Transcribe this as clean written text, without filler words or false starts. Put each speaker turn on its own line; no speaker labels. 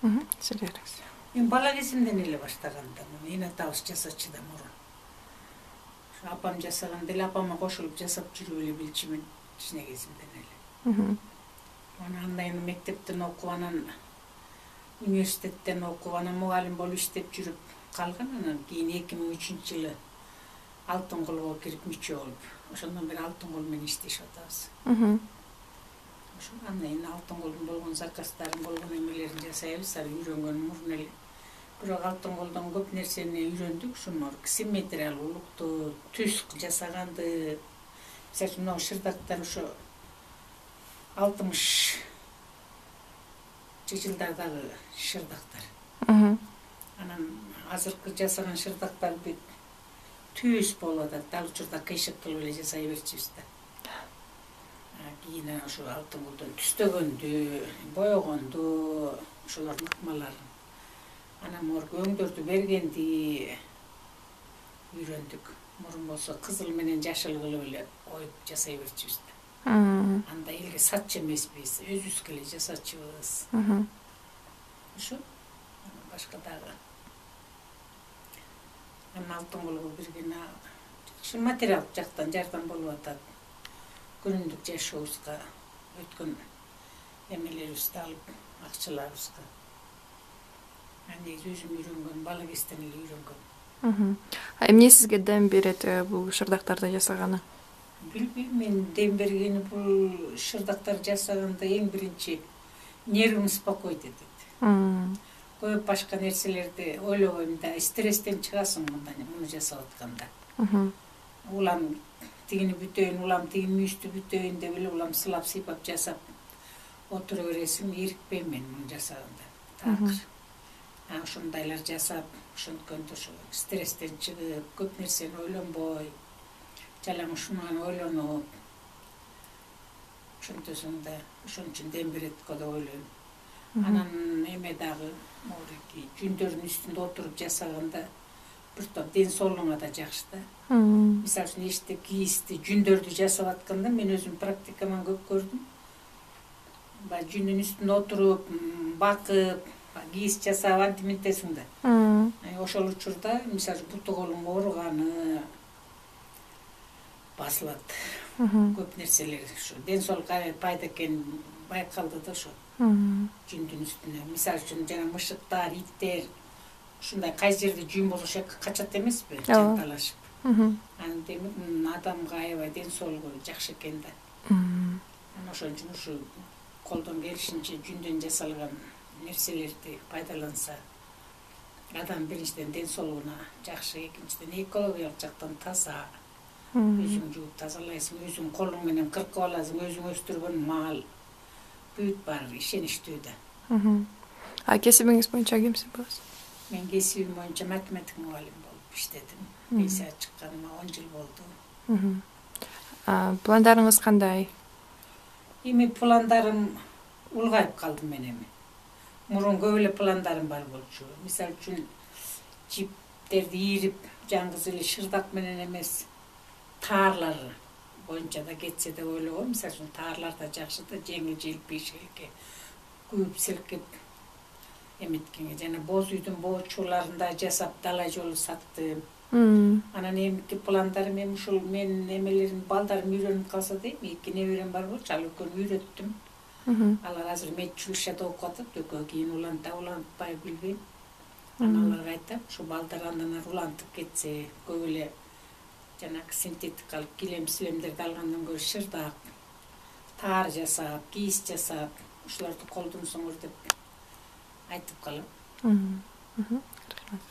Силердиңиз?
Мен бала кезимден эле баштаганда эне атабыз жасачу да мурун. Апам жасаганда эле апама кошулуп жасап жүрүп эле билчүмүн кичине кезимден эле. Анан мектептен окуп, анан университеттен окуп, анан мугалим болуп иштеп жүрүп калган. Анан кийин 2003-жылы Алтын колго кирип мүчө болуп, ошондон бери Алтын кол менен иштешип атабыз. Ошо анан Алтын колдун болгон заказдарын, болгон эмелерин жасайбыз, аны үйрөнгөн мурун эле. Бирок Алтын колдон көп нерсени үйрөндүк, ушуну симметриялуулукту, түз жасаганды. Мисалы үчүн могу шырдактар ошо 60-жылдардагы шырдактар. Анан азыркы жасаган шырдактар бүт түз болуп атат. Ал учурда кыйшык кылып эле жасай берчүбүз да. Кийин ошо Алтын колдон түстөгөндү, боёгонду, ошолордун ыкмаларын, анан морг өңдөрдү бергенди үйрөндүк. Мурун болсо кызыл менен жашыл кылып эле коюп жасай берчүбүз да. Анда элге сатчу эмеспиз, өзүбүзгө эле жасачубыз. Ошо башка дагы. Анан Алтын колго биргене жакшы материалдык жактан жардам болуп атат. Күнүмдүк жашообузга, өткөн эмелерибизди алып, акчаларыбызга. Негизи өзүм үйрөнгөн, бала кезден эле үйрөнгөн.
Эмне сизге дем берет бул шырдактарды жасаганы?
Билбейм, мен дем бергени бул шырдактар жасаганда эң биринчи нервим спокойт этет. Көп башка нерселерди ойлобойм да, стресстен чыгасың муну жасап атканда. Улам тигини бүтөйүн, улам тиги мүйүздү бүтөйүн деп эле улам сылап сыйпап жасап отура бересиң, ирикпейм мен муну жасаганда. Такыр. Ошондайлар жасап, ошонткөндөй ошо стресстен чыгып, көп нерсени ойлонбой, жалаң ушуну ойлонуп, ошентесиң да, ошон үчүн дем берет го деп ойлойм. Анан эме дагы, могуки жүндөрдүн үстүндө отуруп жасаганда бир топ ден соолугуңа да жакшы да. Мисалы үчүн эшикте кийизди, жүндөрдү жасап атканда мен өзүм практикаман көп көрдүм. Баягы жүндүн үстүндө отуруп, бакып, кийиз жасап антиминтесиң да. Ошол учурда, мисалы үчүн буту колуң ооруганы басылат. Көп нерселер ушу ден соолукка пайда экени байкалды да ошо. Жүндүн үстүнө. Мисалы үчүн жана мышыктар, иттер ушундай кай жерде жүн болсо ошол жака качат эмеспи, жанталашып. Анан демек адамга аябай ден соолугу жакшы экен да. Анан ошон үчүн ушу колдон келишинче жүндөн жасалган нерселерди пайдаланса, адам биринчиден ден соолугуна жакшы, экинчиден экологиялык жактан таза. Өзүң жууп тазалайсың, өзүң колуң менен кыркып аласың, өзүң өстүргөн мал. Бүт баары ишеничтүү да.
Кесибиңиз боюнча кимсиз болосуз?
Мен кесибим боюнча математика мугалим болуп иштедим. Пенсияга чыкканыма 10 жыл болду.
Пландарыңыз кандай?
Эми пландарым улгайып калдым мен эми. Мурун көп эле пландарым бар болчу. Мисалы үчүн жиптерди ийрип, жаңгыз эле шырдак менен эмес, таарлар боюнча да кетсе деп ойлогом. Мисалы үчүн таарлар да жакшы да, жеңил желпиш элге күйүп силкип эметкенге. Жана боз үйдүн боочуларында жасап далай жолу саттым. Анан эмки пландарым эми ушул менин эмелерим, балдарым үйрөнүп калса дейм. 2 неберем бар болчу, ал экөөнү үйрөттүм. Алар азыр медучилищеде окуп атат, экөө кийин уланта улантпай билбейм. Анан аларга айтам, ушу балдар андан ары улантып кетсе, көп эле жанагы синтетикалык килем-силемдерди алгандан көрө шырдак, таар жасап, кийиз жасап, ушуларды колдонсоңор деп айтып калам.
Рахмат.